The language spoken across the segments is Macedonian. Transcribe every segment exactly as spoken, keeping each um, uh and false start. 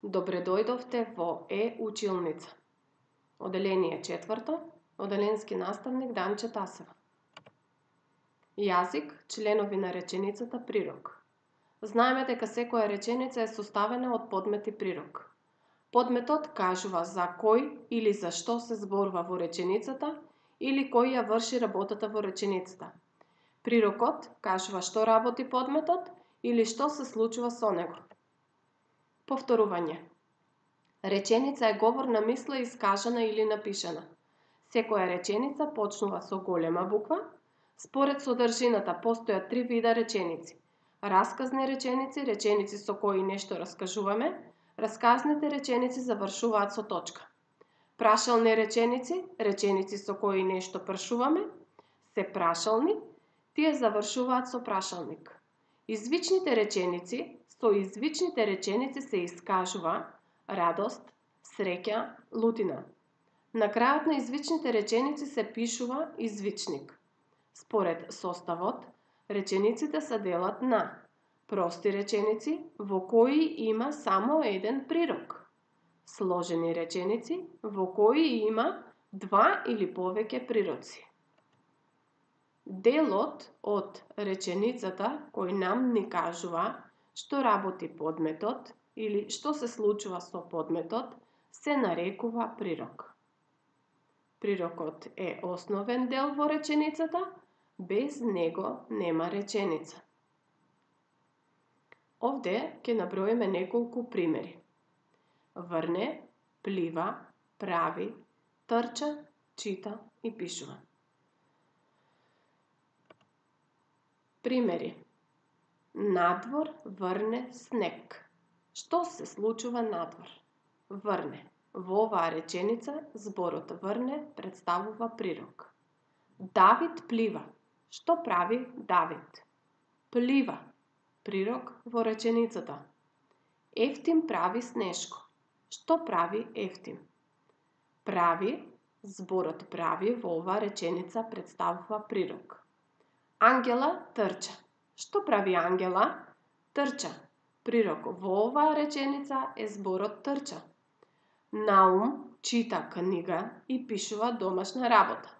Добре дојдовте во Е-училница. Оделение четврто, оделенски наставник Данче Тасева. Јазик, членови на реченицата прирок. Знаеме дека секоја реченица е составена од подмет и прирок. Подметот кажува за кој или за што се зборува во реченицата или кој ја врши работата во реченицата. Прирокот кажува што работи подметот или што се случува со него. Повторување. Реченица е говорна мисла искажана или напишана. Секоја реченица почнува со голема буква. Според содржината постојат три вида реченици. Расказни реченици, реченици со кои нешто раскажуваме. Расказните реченици завршуваат со точка. Прашални реченици, реченици со кои нешто прашуваме, се прашални, тие завршуваат со прашалник. Извичните реченици, со извичните реченици се искажува радост, среќа, лутина. На крајот на извичните реченици се пишува извичник. Според составот, речениците се делат на прости реченици во кои има само еден прирок, сложени реченици во кои има два или повеќе прироци. Делот од реченицата кој нам ни кажува што работи подметот или што се случува со подметот се нарекува прирок. Прирокот е основен дел во реченицата, без него нема реченица. Овде ќе наброиме неколку примери. Врне, плива, прави, трча, чита и пишува. Примери. Надвор врне снег. Што се случува надвор? Врне. Во оваа реченица зборот врне представува прирок. Давид плива. Што прави Давид? Плива. Прирок во реченицата. Евтим прави снешко. Што прави Евтим? Прави. Зборот прави во оваа реченица представува прирок. Ангела трча. Што прави Ангела? Трча. Прирок во оваа реченица е зборот трча. Наум чита книга и пишува домашна работа.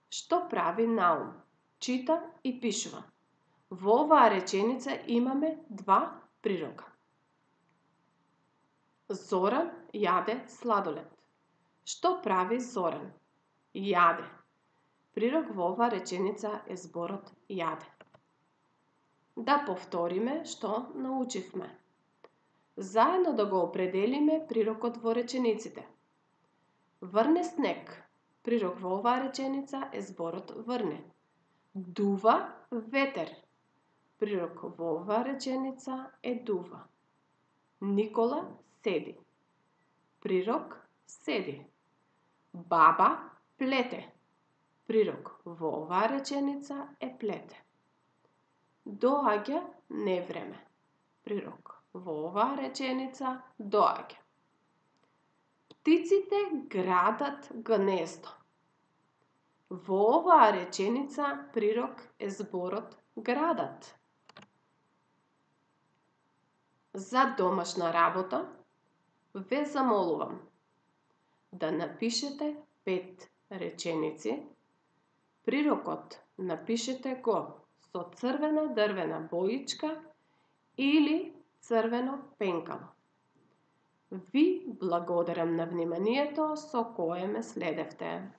Што прави Наум? Чита и пишува. Во оваа реченица имаме два прирока. Зоран јаде сладолед. Што прави Зоран? Јаде. Прирок во оваа реченица е зборот јаде. Да повториме што научивме. Заедно да го определиме прирокот во речениците. Врне снег. Прирок во оваа реченица е зборот врне. Дува ветер. Прирок во оваа реченица е дува. Никола седи. Прирок седи. Баба плете. Прирок во оваа реченица е плете. Доаѓа невреме. Прирок во оваа реченица доаѓа. Птиците градат гнездо. Во оваа реченица прирок е зборот градат. За домашна работа ве замолувам да напишете пет реченици. Прирокот напишете го со црвена дрвена боичка или црвено пенкало. Ви благодарам на вниманието со кое ме следевте.